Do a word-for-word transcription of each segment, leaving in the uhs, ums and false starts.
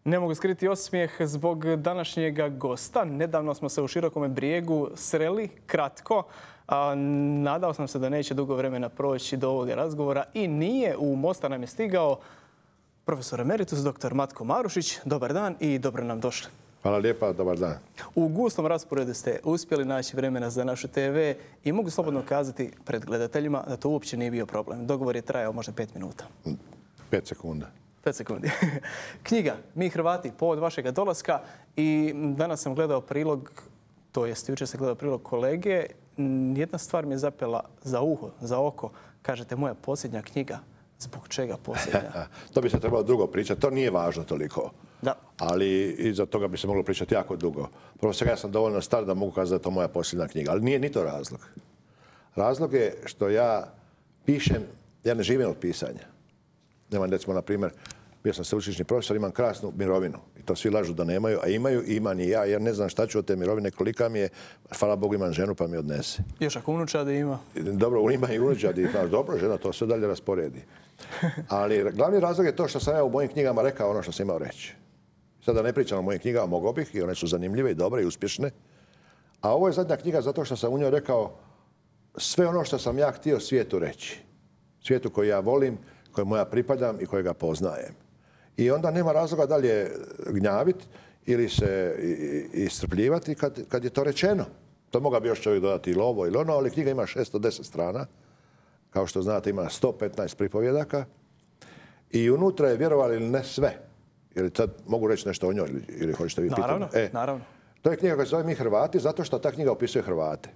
Ne mogu skriti osmijeh zbog današnjega gosta. Nedavno smo se u Širokome Brijegu sreli, kratko. A, nadao sam se da neće dugo vremena proći do ovoga razgovora i nije. U Mostar nam je stigao profesor emeritus doktor Matko Marušić. Dobar dan i dobro nam došli. Hvala lijepa, dobar dan. U gustom rasporedu ste uspjeli naći vremena za našu te ve i mogu slobodno kazati pred gledateljima da to uopće nije bio problem. Dogovor je trajao možda pet minuta. Pet sekunda. Pet sekundi. Knjiga Mi Hrvati, povod vašega dolaska, i danas sam gledao prilog, to jest jučer sam gledao prilog kolege. Jedna stvar mi je zapela za uho, za oko. Kažete, moja posljednja knjiga. Zbog čega posljednja? To bi se trebalo dugo pričati. To nije važno toliko. Da. Ali iza toga bi se moglo pričati jako dugo. Prvo svega ja sam dovoljno star da mogu kazati da je to moja posljednja knjiga. Ali nije ni to razlog. Razlog je što ja pišem, ja ne živim od pisanja. Nemam, recimo, na primjer, bio sam sveučilišni profesor, imam krasnu mirovinu. I to svi lažu da nemaju, a imaju i imam i ja, jer ne znam šta ću od te mirovine, kolika mi je. Hvala Bogu, imam ženu pa mi odnese. Još ako unučadi ima? Dobro, ima i unučadi. Dobro, žena to sve dalje rasporedi. Ali glavni razlog je to što sam ja u mojim knjigama rekao ono što sam imao reći. Sada ne pričam o mojim knjigama, mogao bih, i one su zanimljive i dobre i uspješne. A ovo je zadnja knjiga zato što sam u njoj rekao sve ono što sam ja htio svijetu reći. Svijetu koji ja volim, kojemu ja pripadam i kojega poznajem. I onda nema razloga dalje gnjaviti ili se iscrpljivati kad, kad je to rečeno. To moga bi još čovjek dodati ili ovo ili ono, ali knjiga ima šesto deset strana. Kao što znate, ima sto petnaest pripovjedaka. I unutra je, vjerovali ili ne, sve. Jer sad mogu reći nešto o njoj ili, ili hoćete vi pitati? Naravno, e, naravno. To je knjiga koja se zove Mi Hrvati zato što ta knjiga opisuje Hrvate.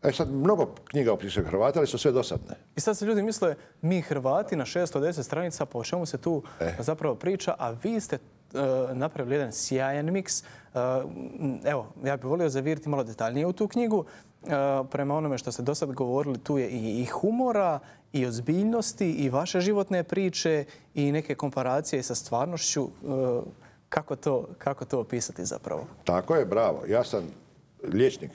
E sad, mnogo knjiga opisuje Hrvate, ali su sve dosadne. I sad se ljudi misle, Mi Hrvati na šesto deset stranica, po čemu se tu e. zapravo priča, a vi ste uh, napravili jedan sjajan miks. Uh, evo, ja bih volio zaviriti malo detaljnije u tu knjigu. Uh, prema onome što ste do sad govorili, tu je i, i humora, i ozbiljnosti, i vaše životne priče, i neke komparacije sa stvarnošću. Uh, kako, to, kako to opisati zapravo? Tako je, bravo. Ja sam liječnik.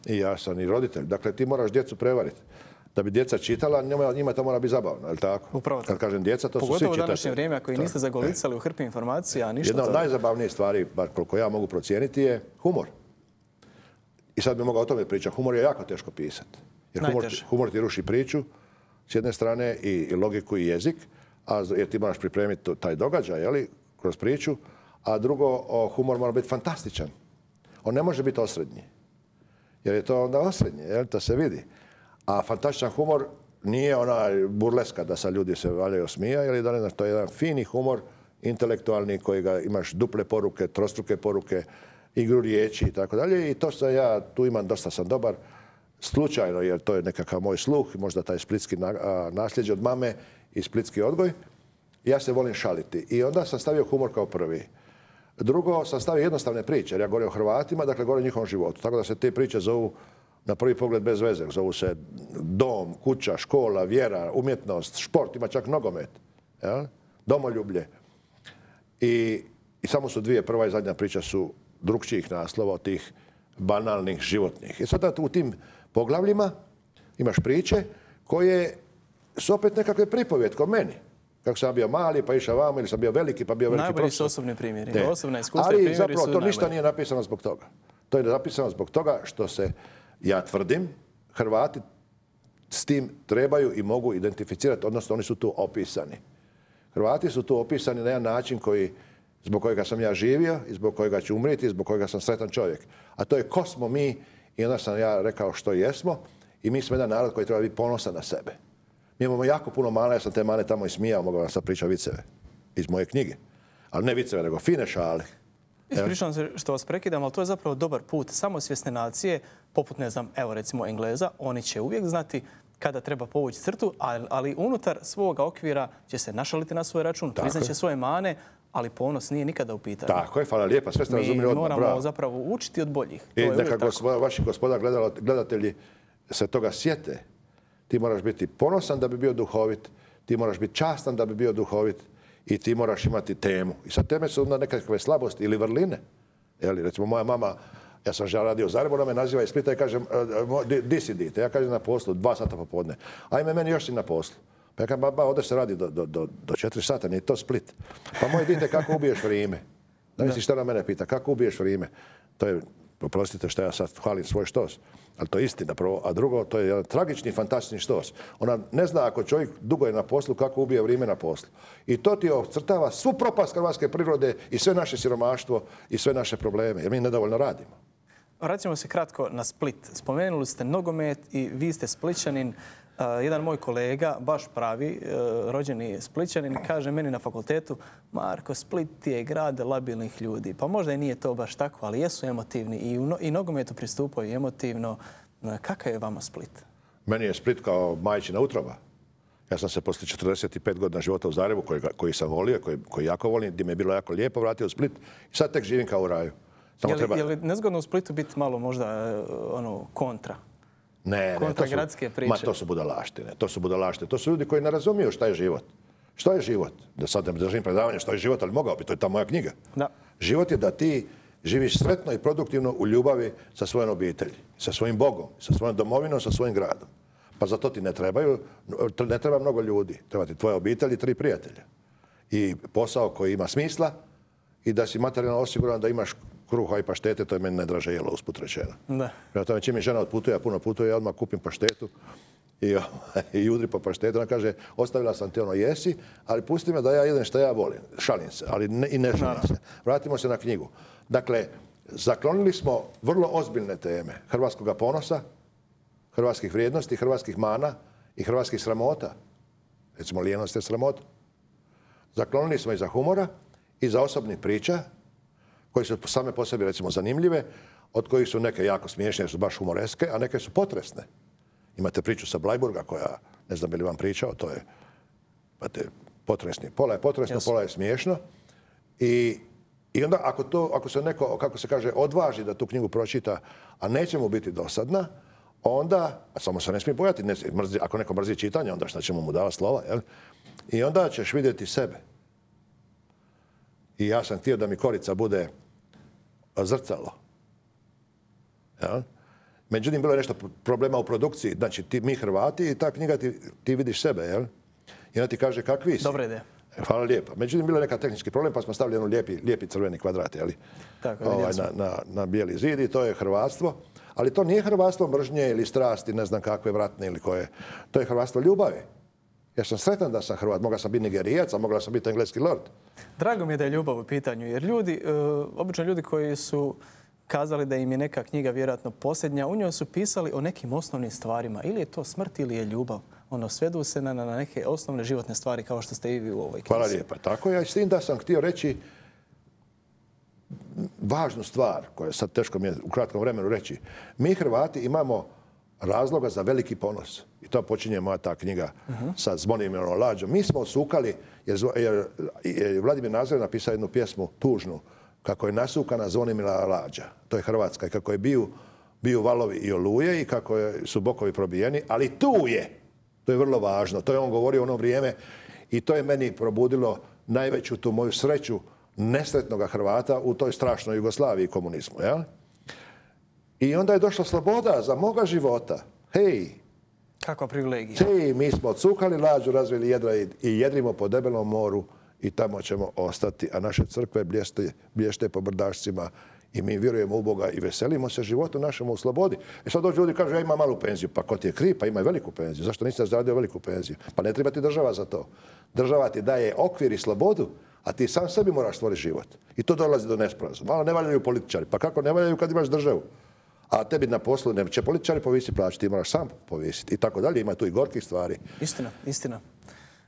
I ja sam i roditelj. Dakle, ti moraš djecu prevariti. Da bi djeca čitala, njima, njima to mora biti zabavno, je li tako? Upravo. Kad kažem djeca, to Pogotovo su svi čitatelji. Pogotovo u današnje vrijeme, ako i niste zagolicali u hrpi informacija, ništa. Jedna od to... najzabavnijih stvari, bar koliko ja mogu procijeniti, je humor. I sad bi mogao o tome pričati. Humor je jako teško pisati. Jer humor, humor ti ruši priču, s jedne strane, i, i logiku i jezik, a, jer ti moraš pripremiti taj događaj, jeli, kroz priču. A drugo, o, humor mora biti fantastičan. On ne može biti osrednji. Jer je to onda osrednje, jel? To se vidi. A fantastičan humor nije onaj burleska da sa ljudi se valjaju smija, ili da ne znaš, to je jedan fini humor, intelektualni, koji ga imaš duple poruke, trostruke poruke, igru riječi i tako dalje. I to sam ja, tu imam, dosta sam dobar, slučajno, jer to je nekakav moj sluh, možda taj splitski nasljeđe od mame i splitski odgoj. Ja se volim šaliti. I onda sam stavio humor kao prvi. Drugo, sam stavio jednostavne priče, jer ja govorim o Hrvatima, dakle govorim o njihovom životu. Tako da se te priče zovu na prvi pogled bez veze. Zovu se dom, kuća, škola, vjera, umjetnost, šport, ima čak nogomet, jel? Domoljublje. I, I samo su dvije, prva i zadnja priča su drukčijih naslova od tih banalnih, životnih. I sada u tim poglavljima imaš priče koje su opet nekakve pripovjed ko meni. Kako sam bio mali, pa išao vamo, ili sam bio veliki, pa bio veliki profesor. Najbolji su osobni primjeri. Ne. Osobna iskustva ali i primjeri zapravo su to najbolji. ništa nije napisano zbog toga. To je napisano zbog toga što se, ja tvrdim, Hrvati s tim trebaju i mogu identificirati, odnosno oni su tu opisani. Hrvati su tu opisani na jedan način koji, zbog kojega sam ja živio i zbog kojega ću umrijeti i zbog kojega sam sretan čovjek. A to je ko smo mi, i onda sam ja rekao što jesmo, i mi smo jedan narod koji treba biti ponosan na sebe. Mi imamo jako puno mana, ja sam te mane tamo i smijao, mogu vam sad pričati viceve iz moje knjige. Ali ne viceve, nego fine šale. Ispričavam se što vas prekidam, ali to je zapravo dobar put. Samosvjesne nacije, poput, ne znam, evo recimo Engleza, oni će uvijek znati kada treba povući crtu, ali, ali unutar svoga okvira će se našaliti na svoj račun, priznaće svoje mane, ali ponos nije nikada u pitanju. Tako je, hvala lijepa, sve ste razumili odmah. Mi moramo bravo. zapravo učiti od boljih. I neka gospoda, vaši gospoda gledatelji se toga sjete. Ti moraš biti ponosan da bi bio duhovit, ti moraš biti častan da bi bio duhovit i ti moraš imati temu. I sad teme su onda nekakve slabosti ili vrline. Jeli, recimo moja mama, ja sam žal radio u Zagrebu, ona me naziva iz Splita i kažem, di si dite? Ja kažem na poslu, dva sata popodne. Ajme, meni još si na poslu. Pa ja kažem, ba, ovdje se radi do, do, do, do četiri sata, nije to Split. Pa moj dite, kako ubiješ vrijeme? Da misliš šta na mene pita, kako ubiješ vrijeme? To je, oprostite što ja sad hvalim svoj štos, ali to je istina prvo. A drugo, to je jedan tragični, fantastični štos. Ona ne zna ako čovjek dugo je na poslu, kako ubije vrijeme na poslu. I to ti ocrtava svu propast hrvatske prirode i sve naše siromaštvo i sve naše probleme, jer mi nedovoljno radimo. Vraćamo se kratko na Split. Spomenuli ste nogomet i vi ste Splićanin. Uh, jedan moj kolega, baš pravi, uh, rođeni Splićanin, kaže meni na fakultetu: Marko, Split je grad labilnih ljudi. Pa možda i nije to baš tako, ali jesu emotivni i, u no, i nogometu pristupaju emotivno. Uh, kakav je vama Split? Meni je Split kao majčina utroba. Ja sam se poslije četrdeset pet godina života u Zagrebu, koji, koji sam volio, koji, koji jako volim, gdje mi je bilo jako lijepo, vratio u Split i sad tek živim kao u raju. Samo je li, treba... je li nezgodno u Splitu biti malo možda ono, kontra? Ne, ne, to su, ma, to su budalaštine. To su budalaštine. To su ljudi koji ne razumiju šta je život. Što je život? Da sad ne držim predavanje što je život, ali mogao bi, to je ta moja knjiga. Da. Život je da ti živiš sretno i produktivno u ljubavi sa svojom obitelji, sa svojim Bogom, sa svojom domovinom, sa svojim gradom. Pa za to ti ne trebaju, ne treba mnogo ljudi. Treba ti tvoja obitelj i tri prijatelja. I posao koji ima smisla i da si materijalno osiguran da imaš kruha i paštete, to je meni najdraže jelo, usput rečeno. Da. Prema tome, čim mi žena odputuje, ja puno putuje, ja odmah kupim paštetu i, i udri po paštetu. Ona kaže, ostavila sam ti ono jesi, ali pusti me da ja jedem što ja volim. Šalim se, ali ne, i ne šalim se. Vratimo se na knjigu. Dakle, zaklonili smo vrlo ozbiljne teme hrvatskog ponosa, hrvatskih vrijednosti, hrvatskih mana i hrvatskih sramota. Recimo, lijenost je sramota. Zaklonili smo i za humora i za osobnih priča, koji su same po sebi, recimo, zanimljive, od kojih su neke jako smiješne, jer su baš humoreske, a neke su potresne. Imate priču sa Blajburga, koja, ne znam bi li vam pričao, to je imate, potresni. Pola je potresno, yes. Pola je smiješno. I, i onda, ako, to, ako se neko, kako se kaže, odvaži da tu knjigu pročita, a neće mu biti dosadna, onda, a samo se ne smije bojati, ne, mrzi, ako neko mrzi čitanje, onda šta ćemo mu davati slova, jel? I onda ćeš vidjeti sebe. I ja sam htio da mi Korica bude zrcalo. Ja? Međutim, bilo je nešto problema u produkciji. Znači, ti, mi Hrvati i ta knjiga ti, ti vidiš sebe, jel? I ona ti kaže kakvi si. Dobra ideja. Hvala lijepo. Međutim, bilo je neka tehnički problem, pa smo stavili jedan lijepi, lijepi crveni kvadrat, jel? Tako, ovaj, na, na, na bijeli zid i to je hrvatstvo. Ali to nije hrvatstvo mržnje ili strasti, ne znam kakve vratne ili koje. To je hrvatstvo ljubavi. Ja sam sretan da sam Hrvat. Mogla sam biti Nigerijac, a mogla sam biti engleski lord. Drago mi je da je ljubav u pitanju, jer ljudi, uh, obično ljudi koji su kazali da im je neka knjiga vjerojatno posljednja, u njoj su pisali o nekim osnovnim stvarima. Ili je to smrt ili je ljubav. Ono, svedu se na, na neke osnovne životne stvari kao što ste i vi u ovoj knjizi. Hvala lijepa. Tako je. S tim da sam htio reći važnu stvar, koja sad teško mi je u kratkom vremenu reći. Mi Hrvati imamo razloga za veliki ponos. I to počinje moja ta knjiga uh-huh. sa Zvonimirom Lađom. Mi smo osukali, jer, jer, jer Vladimir Nazor napisao jednu pjesmu tužnu, kako je nasukana Zvonimira Lađa. To je Hrvatska. I kako je bio, bio valovi i oluje i kako je, su bokovi probijeni. Ali tu je. To je vrlo važno. To je on govorio u ono vrijeme i to je meni probudilo najveću tu moju sreću nesretnog Hrvata u toj strašnoj Jugoslaviji i komunizmu. Jel? I onda je došla sloboda za moga života. Hej! Kakva privilegija. Hej, mi smo odsukali Lađu, razvili jedra i, i jedrimo po debelom moru i tamo ćemo ostati. A naše crkve blješte, blješte po brdašcima i mi vjerujemo u Boga i veselimo se životu našemu u slobodi. I sad dođu ljudi i kažu, ja imam malu penziju. Pa ko ti je kriv? Pa ima i veliku penziju. Zašto niste zaradio veliku penziju? Pa ne treba ti država za to. Država ti daje okvir i slobodu, a ti sam sebi moraš stvoriti život. I to dolazi do nesporazuma. Malo ne valjaju političari. Pa kako ne valjaju kad imaš državu? A tebi na poslu ne će političari povisiti plaću, ti moraš sam povisiti i tako dalje. Ima tu i gorkih stvari. Istina, istina.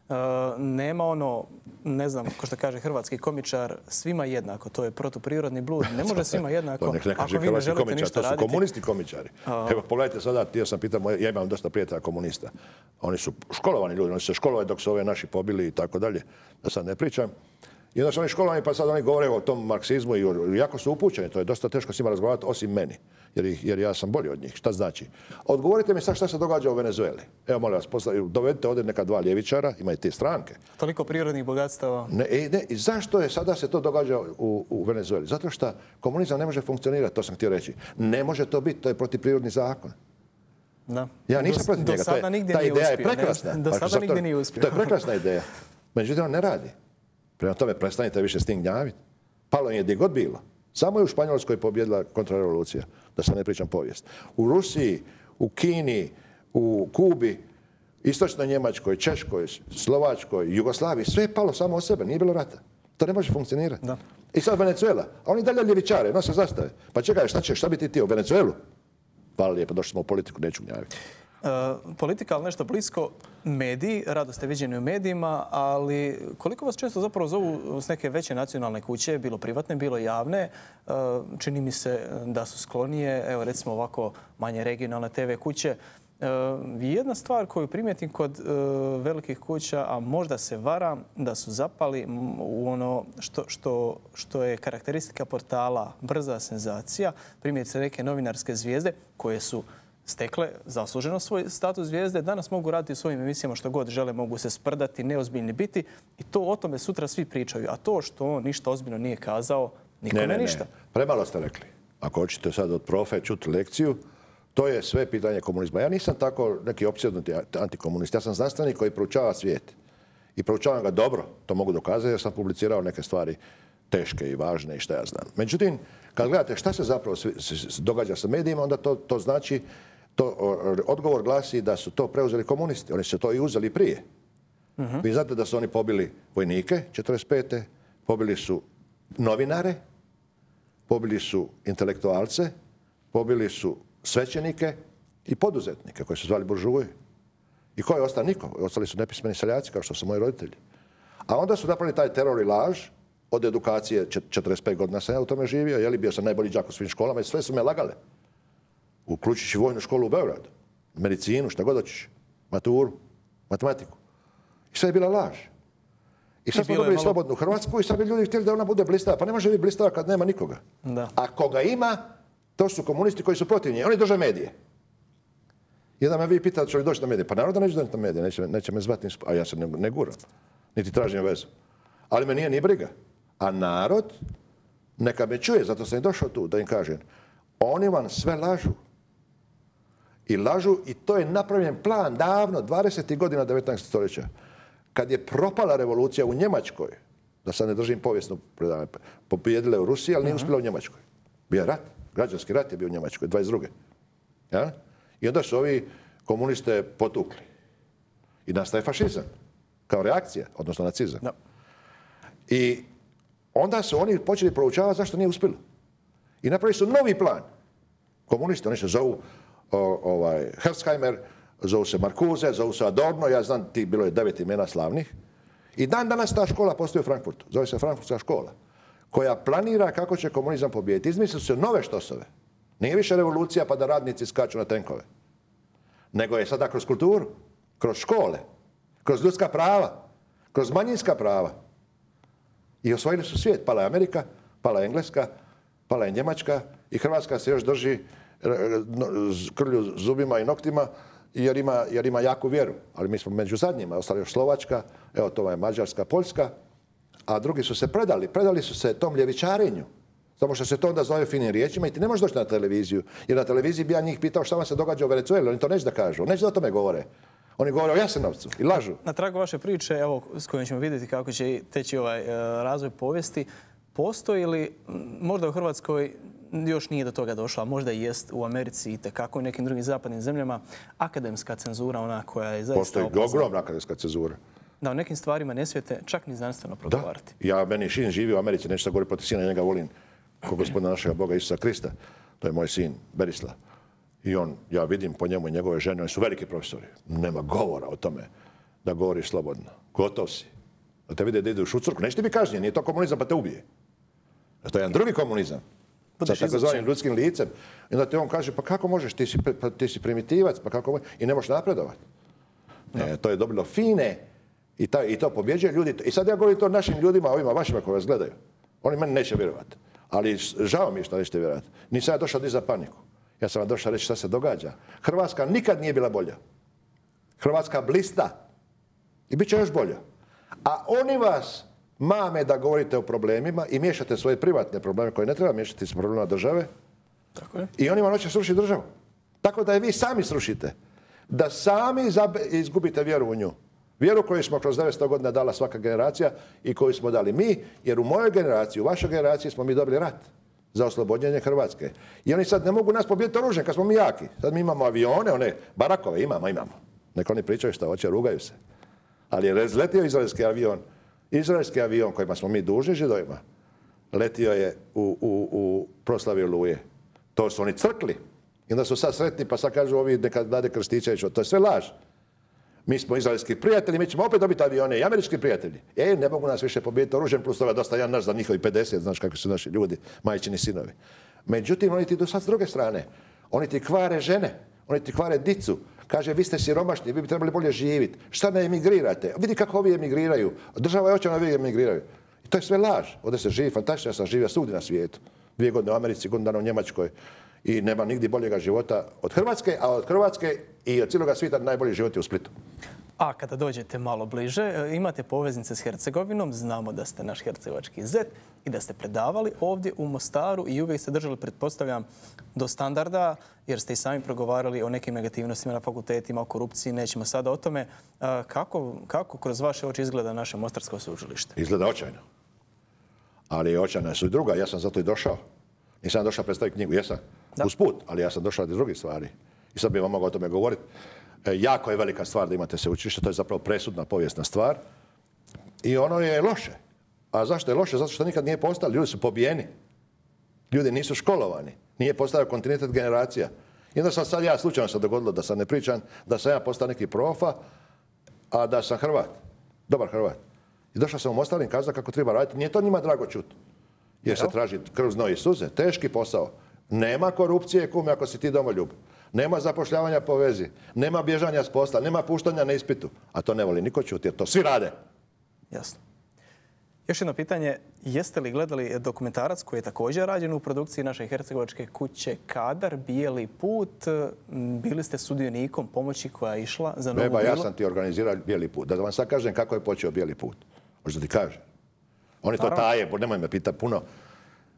Uh, nema ono, ne znam, ko što kaže hrvatski komičar, svima jednako. To je protuprirodni blud. Ne može svima jednako. Nek ne kaže hrvatski komičar, to su raditi. Komunisti komičari. Uh, Evo, pogledajte sada, htio sam pitati, ja imam dosta prijatelja komunista. Oni su školovani ljudi, oni su se školovali dok su ove naši pobili i tako dalje. Da sad ne pričam. I onda su oni školovani, pa sad oni govore o tom marksizmu i jako su upućeni. To je dosta teško s njima razgovarati, osim meni. Jer, ih, jer ja sam bolji od njih. Šta znači? Odgovorite mi sad šta se događa u Venezueli. Evo, molim vas, posla, dovedite ovdje neka dva ljevičara, imaju te stranke. Toliko prirodnih bogatstava. Ne, ne, i zašto je sada se to događa u, u Venezueli? Zato što komunizam ne može funkcionirati, to sam htio reći. Ne može to biti, to je protivprirodni zakon. Da. Ja nisam do, protiv do njega. Sada nigdje ta nije ideja uspio, je prekrasna. Do sada nigdje nije uspio. To je prekrasna ideja. Međutim, on ne radi. Prema tome, prestanite više s tim gnjaviti. Palo je gdje god bilo. Samo je u Španjolskoj pobjedila kontrarevolucija, da se ne pričam povijest. U Rusiji, u Kini, u Kubi, Istočnoj Njemačkoj, Češkoj, Slovačkoj, Jugoslaviji, sve je palo samo od sebe, nije bilo rata. To ne može funkcionirati. Da. I sad Venezuela, a oni dalje ljevičare, nose zastave. Pa čekaj, šta će, šta bi ti ti u Venezuelu? Hvala lijepo, došli smo u politiku, neću gnjaviti. Uh, politika, ali nešto blisko, mediji, rado ste viđeni u medijima, ali koliko vas često zapravo zovu s neke veće nacionalne kuće, bilo privatne, bilo javne, uh, čini mi se da su sklonije, evo recimo ovako manje regionalne te ve kuće. Uh, jedna stvar koju primijetim kod uh, velikih kuća, a možda se varam, da su zapali u ono što, što, što je karakteristika portala brza senzacija, primjerice neke novinarske zvijezde koje su stekle zasluženo svoj status zvijezde, danas mogu raditi u svojim emisijama što god žele, mogu se sprdati, neozbiljni biti i to o tome sutra svi pričaju. A to što on ništa ozbiljno nije kazao, nikome ne, ne, ništa. Ne. Premalo ste rekli. Ako hoćete sad od profe čuti lekciju, to je sve pitanje komunizma. Ja nisam tako neki opsjednuti antikomunist. Ja sam znanstvenik koji proučava svijet. I proučavam ga dobro, to mogu dokazati jer sam publicirao neke stvari teške i važne i šta ja znam. Međutim, kad gledate šta se zapravo događa sa medijima, onda to, to znači, to, odgovor glasi da su to preuzeli komunisti. Oni su to i uzeli prije. Uh-huh. Vi znate da su oni pobili vojnike četrdeset pete pobili su novinare, pobili su intelektualce, pobili su svećenike i poduzetnike koji su zvali buržuje. I ko je ostao? Niko. Ostali su nepismeni seljaci kao što su moji roditelji. A onda su napravili taj teror i laž od edukacije. četrdeset pet godina sam ja u tome živio. Jeli, bio sam najbolji đak u svim školama i sve su me lagale. Uključujući vojnu školu u Beogradu, medicinu, šta god hoćeš, maturu, matematiku. I sve je bila laž. I sad smo dobili malo slobodnu Hrvatsku i sad bi ljudi htjeli da ona bude blistava. Pa ne može biti blistava kad nema nikoga. Da. A koga ima, to su komunisti koji su protiv nje. Oni drže medije. Jedan me vi pitao će li doći na medije. Pa naravno da neću doći na medije, neće, neće me zvati, a ja se ne, ne guram, niti tražim vezu. Ali me nije ni briga. A narod neka me čuje, zato sam i došao tu da im kažem. Oni vam sve lažu. I lažu i to je napravljen plan davno, dvadesetih godina devetnaestog stoljeća. Kad je propala revolucija u Njemačkoj, da sad ne držim povijesnu predavanje, pobjedila je u Rusiji, ali nije uspjela u Njemačkoj. Bio je rat, građanski rat je bio u Njemačkoj, dvadeset druge Ja? I onda su ovi komuniste potukli. I nastaje fašizam, kao reakcija, odnosno nacizam. No. I onda su oni počeli proučavati zašto nije uspjelo. I napravili su novi plan. Komunisti, oni se zovu o, ovaj, Herzheimer, zovu se Marcuse, zovu se Adorno, ja znam, ti bilo je devet imena slavnih. I dan danas ta škola postoji u Frankfurtu. Zove se Frankfurtska škola, koja planira kako će komunizam pobijediti. Izmislili su nove štosove. Nije više revolucija pa da radnici skaču na tenkove. Nego je sada kroz kulturu, kroz škole, kroz ljudska prava, kroz manjinska prava. I osvojili su svijet. Pala je Amerika, pala je Engleska, pala je Njemačka i Hrvatska se još drži krlju zubima i noktima jer ima, jer ima jaku vjeru. Ali mi smo među zadnjima, ostali još Slovačka, evo to je Mađarska, Poljska, a drugi su se predali. Predali su se tom ljevičarenju. Samo što se to onda zove finim riječima i ti ne možeš doći na televiziju. Jer na televiziji bi ja njih pitao šta vam se događa u Venezueli. Oni to neće da kažu. Neće da o tome govore. Oni govore o Jasenovcu i lažu. Na tragu vaše priče, evo, s kojim ćemo vidjeti kako će teći ovaj uh, razvoj povijesti, postoji li, možda u Hrvatskoj još nije do toga došla, a možda i jest u Americi i tekako u nekim drugim zapadnim zemljama, akademska cenzura, ona koja je zaista postoji opasna. Postoji ogromna akademska cenzura. Da, o nekim stvarima ne smijete čak ni znanstveno progovarati. Da, ja meni sin živi u Americi, neću da govorim protiv sina, njega volim ko gospodina našega Boga Isusa Krista. To je moj sin, Berislav. I on, ja vidim po njemu i njegove žene, oni su veliki profesori. Nema govora o tome da govoriš slobodno. Gotov si. Da te vide da ideš u crkvu. Neće ti biti kažnjen, nije to komunizam pa te ubije. To je jedan drugi komunizam. Sa takozvanim ljudskim licem. I onda ti on kaže, pa kako možeš, ti si, pa, ti si primitivac, pa kako možeš, i ne možeš napredovati. E, to je dobilo fine i, ta, i to pobjeđuje ljudi. I sad ja govorim to našim ljudima, ovima vašima koji vas gledaju. Oni meni neće vjerovati. Ali žao mi je što nećete vjerovati. Nisam ja došao dizati paniku. Ja sam vam došao reći šta se događa. Hrvatska nikad nije bila bolja. Hrvatska blista. I bit će još bolja. A oni vas mame da govorite o problemima i miješate svoje privatne probleme koje ne treba miješati s problemima države. Tako je. I oni vam hoće srušiti državu. Tako da je vi sami srušite. Da sami izgubite vjeru u nju. Vjeru koju smo kroz devetsto godina dala svaka generacija i koju smo dali mi, jer u mojoj generaciji, u vašoj generaciji smo mi dobili rat za oslobođenje Hrvatske. I oni sad ne mogu nas pobijediti oružjem kad smo mi jaki. Sad mi imamo avione, one barakove imamo, imamo. Neka oni pričaju šta hoće, rugaju se. Ali je letio izraelski avion, izraelski avion kojima smo mi dužni Židovima, letio je u, u, u proslavi Oluje. To su oni crkli. I onda su sad sretni pa sad kažu ovi neka dade Krstičević. To je sve laž. Mi smo izraelski prijatelji, mi ćemo opet dobiti avione i američki prijatelji. E, ne mogu nas više pobijediti oružjem, plus toga dosta jedan naš za njihovi pedeset, znaš kakvi su naši ljudi, majčini sinovi. Međutim, oni ti idu sad s druge strane. Oni ti kvare žene, oni ti kvare dicu. Kaže, vi ste siromašni, vi bi trebali bolje živjeti. Šta ne emigrirate? Vidi kako ovi emigriraju. Država je očajna, ovi emigriraju. I to je sve laž. Ovdje se živi fantastično, ja sam živio svugdje na svijetu. Dvije godine u Americi, godinu dana u Njemačkoj. I nema nigdje boljega života od Hrvatske, a od Hrvatske i od cijeloga svijeta najbolji život je u Splitu. A kada dođete malo bliže, imate poveznice s Hercegovinom, znamo da ste naš hercegovački zet i da ste predavali ovdje u Mostaru i uvijek ste držali, pretpostavljam, do standarda, jer ste i sami progovarali o nekim negativnostima na fakultetima, o korupciji, nećemo sada o tome. Kako, kako kroz vaše oči izgleda naše Mostarsko sveučilište? Izgleda očajno. Ali očajna su i druga, ja sam zato i došao. Nisam došao predstaviti knjigu, jesam. Da. Usput, ali ja sam došao do drugih stvari. I sad bih vam mogao o tome govoriti. E, jako je velika stvar da imate sveučilište, to je zapravo presudna povijesna stvar. I ono je loše. A zašto je loše? Zato što nikad nije postalo. Ljudi su pobijeni. Ljudi nisu školovani. Nije postao kontinuitet generacija. I onda sam sad ja, slučajno se dogodilo da sam ne pričam, da sam ja postao neki profa, a da sam Hrvat. Dobar Hrvat. I došao sam u Mostar i kazao kako treba raditi. Nije to njima drago čuti. Jer se traži krv, znoj i suze. Teški posao. Nema korupcije, kume, ako si ti domoljub. Nema zapošljavanja po vezi. Nema bježanja s posla. Nema puštanja na ispitu. A to ne voli niko čuti, jer to svi rade. Jasno. Još jedno pitanje. Jeste li gledali dokumentarac koji je također rađen u produkciji naše hercegovačke kuće Kadar, Bijeli put? Bili ste sudionikom pomoći koja je išla za Novu Beba, Bilu? ja sam ti organizirao Bijeli put. Da vam sad kažem kako je počeo Bijeli put. Možda ti kažem. Oni to taje, nemoj me pitati puno.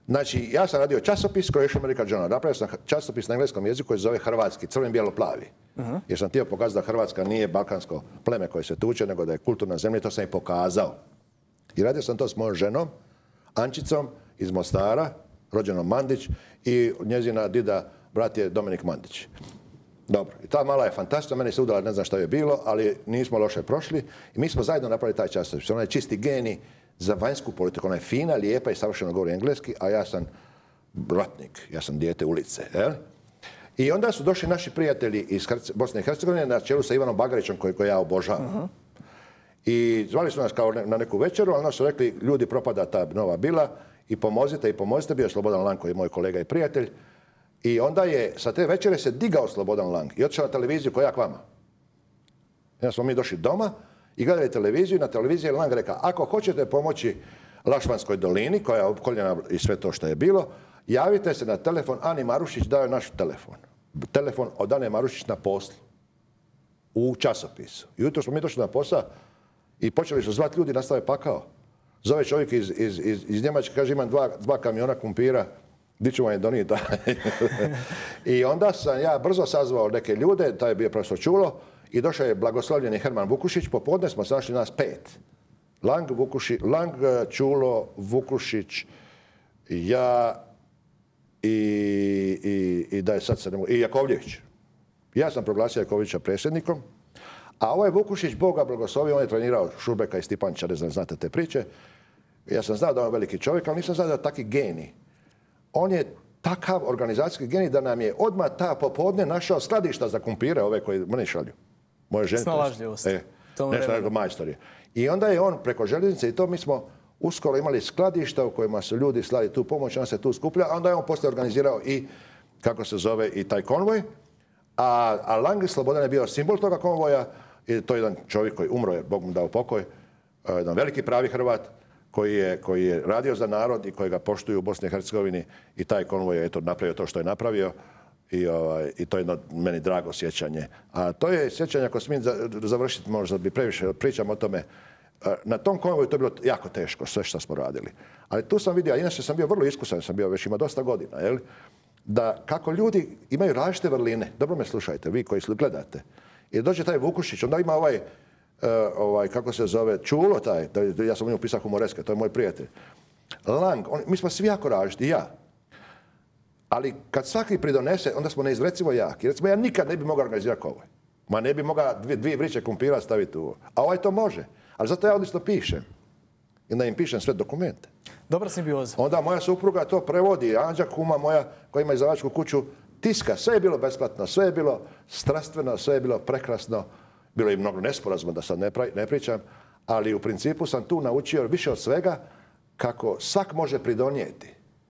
Znači, ja sam radio časopis koji je išao American Journal. Napravio sam časopis na engleskom jeziku koji se zove Hrvatski, crven-bijelo-plavi. Uh-huh. Jer sam htio pokazati da Hrvatska nije balkansko pleme koje se tuče, nego da je kulturna zemlja i to sam i pokazao. I radio sam to s mojom ženom, Ančicom iz Mostara, rođenom Mandić, i njezina dida, brat je Dominik Mandić. Dobro, i ta mala je fantastična, meni se udala, ne znam šta je bilo, ali nismo loše prošli. I mi smo zajedno napravili taj časopis. Ona je čisti genij za vanjsku politiku. Ona je fina, lijepa i savršeno govori engleski, a ja sam ratnik, ja sam dijete ulice. Jel? I onda su došli naši prijatelji iz Bosne i Hercegovine na čelu sa Ivanom Bagarićem, koji, koji ja obožavam. Uh-huh. I zvali su nas kao na neku večeru, ali nas su rekli, ljudi, propada ta Nova Bila i pomozite i pomozite. Bio je Slobodan Lang, koji je moj kolega i prijatelj. I onda je sa te večere se digao Slobodan Lang i otišao na televiziju koja k vama. I onda smo mi došli doma i gledali televiziju i na televiziji je Lang rekao, ako hoćete pomoći Lašvanskoj dolini, koja je opkoljena i sve to što je bilo, javite se na telefon. Ani Marušić dao je naš telefon. Telefon od Ane Marušić na poslu. U časopisu. I jutro smo mi došli na posao i počeli su zvati ljudi, nastave pakao. Zove čovjek iz, iz, iz, iz Njemačke, kaže, imam dva, dva kamiona kumpira, di ću vam je donijeti. I onda sam ja brzo sazvao neke ljude, taj je bio profesor Čulo, i došao je blagoslovljeni Herman Vukušić. Popodne smo se našli nas pet. Lang, Vukuši, Lang, Čulo, Vukušić, ja i, i, i da je sad se ne mogu, i Jakovljević. Ja sam proglasio Jakovljevića predsjednikom, a ovaj Vukušić, Boga blagoslovio, on je trenirao Šurbeka i Stipančića, ne znam, znate te priče. Ja sam znao da on je veliki čovjek, ali nisam znao da je taki genij. On je takav organizacijski genij da nam je odmah ta popodne našao skladišta za kumpire, ove koji mene šalju. Moje žene. Snalažljivost. E, nešto nego majstor je. I onda je on preko željeznice i to mi smo uskoro imali skladišta u kojima su ljudi slali tu pomoć, on se tu skuplja, a onda je on poslije organizirao i, kako se zove, i taj konvoj. A, a Lang Slobodan je bio simbol toga konvoja i to je jedan čovjek koji umro je, Bog mu dao pokoj, jedan veliki pravi Hrvat, koji je, koji je radio za narod i koji ga poštuju u Bosni i Hercegovini i taj konvoj je eto napravio to što je napravio i, ovaj, i to je jedno meni drago sjećanje. A to je sjećanje, ako smijem završiti, možda bi previše pričam o tome, na tom konvoju to je bilo jako teško, sve što smo radili. Ali tu sam vidio, a inače sam bio vrlo iskusan, sam bio već ima dosta godina, jel? da kako ljudi imaju različite vrline. Dobro me slušajte, vi koji gledate. I dođe taj Vukušić, onda ima ovaj, uh, ovaj kako se zove, Čulo taj, da, ja sam u njemu pisao humoreske, to je moj prijatelj. Lang, on, mi smo svi jako različiti, ja. Ali kad svaki pridonese, onda smo neizrecivo jaki. Recimo, ja nikad ne bi mogao organizirati ovo. Ma ne bi mogao dvije, dvije vriće kumpira staviti u ovo. A ovaj to može. Ali zato ja odlično pišem. I onda im pišem sve dokumente. Dobra simbioza. Onda moja supruga to prevodi. Anđa kuma moja koja ima izdavačku kuću tiska. Sve je bilo besplatno, sve je bilo strastveno, sve je bilo prekrasno. Bilo je i mnogo nesporazuma da sad ne, pra, ne pričam. Ali u principu sam tu naučio više od svega kako svak može pridonijeti.